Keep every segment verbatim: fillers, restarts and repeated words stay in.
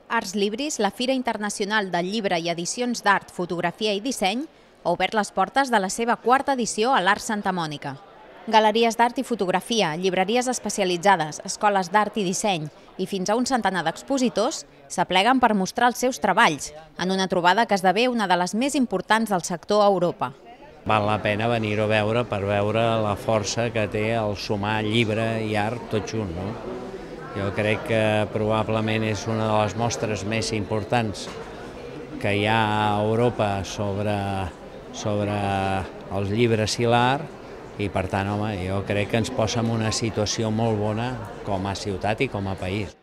Arts Libris, la Fira Internacional del Llibre i Edicions d'Art, Fotografia i Disseny, ha obert les portes de la seva quarta edició a l'Art Santa Mònica. Galeries d'art i fotografia, llibreries especialitzades, escoles d'art i disseny i fins a un centenar d'expositors s'apleguen per mostrar els seus treballs, en una trobada que esdevé una de les més importants del sector a Europa. Val la pena venir-ho a veure per veure la força que té el sumar llibre i art tot junt, no? Jo crec que probablement és una de les mostres més importants que hi ha a Europa sobre, sobre els llibres i l'art i, per tant, home, jo crec que ens posa en una situació molt bona com a ciutat i com a país.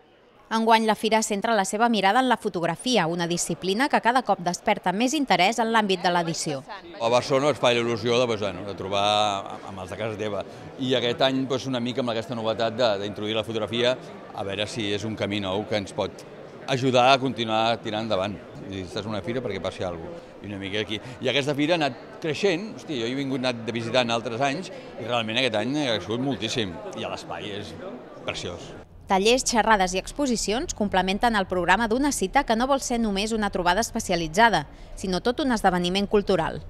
Enguany la fira centra la seva mirada en la fotografia, una disciplina que cada cop desperta més interès en l'àmbit de l'edició. A Barcelona es fa il·lusió de, bueno, de trobar amb els de casa teva i aquest any doncs, una mica amb aquesta novetat d'introduir la fotografia, a veure si és un camí nou que ens pot ajudar a continuar tirant endavant. I estàs en una fira perquè passi alguna cosa. I una mica aquí. I aquesta fira ha anat creixent, hosti, jo he vingut anat de visitar en altres anys i realment aquest any ha crescut moltíssim i l'espai és preciós. Tallers, xerrades i exposicions complementen el programa d'una cita que no vol ser només una trobada especialitzada, sinó tot un esdeveniment cultural.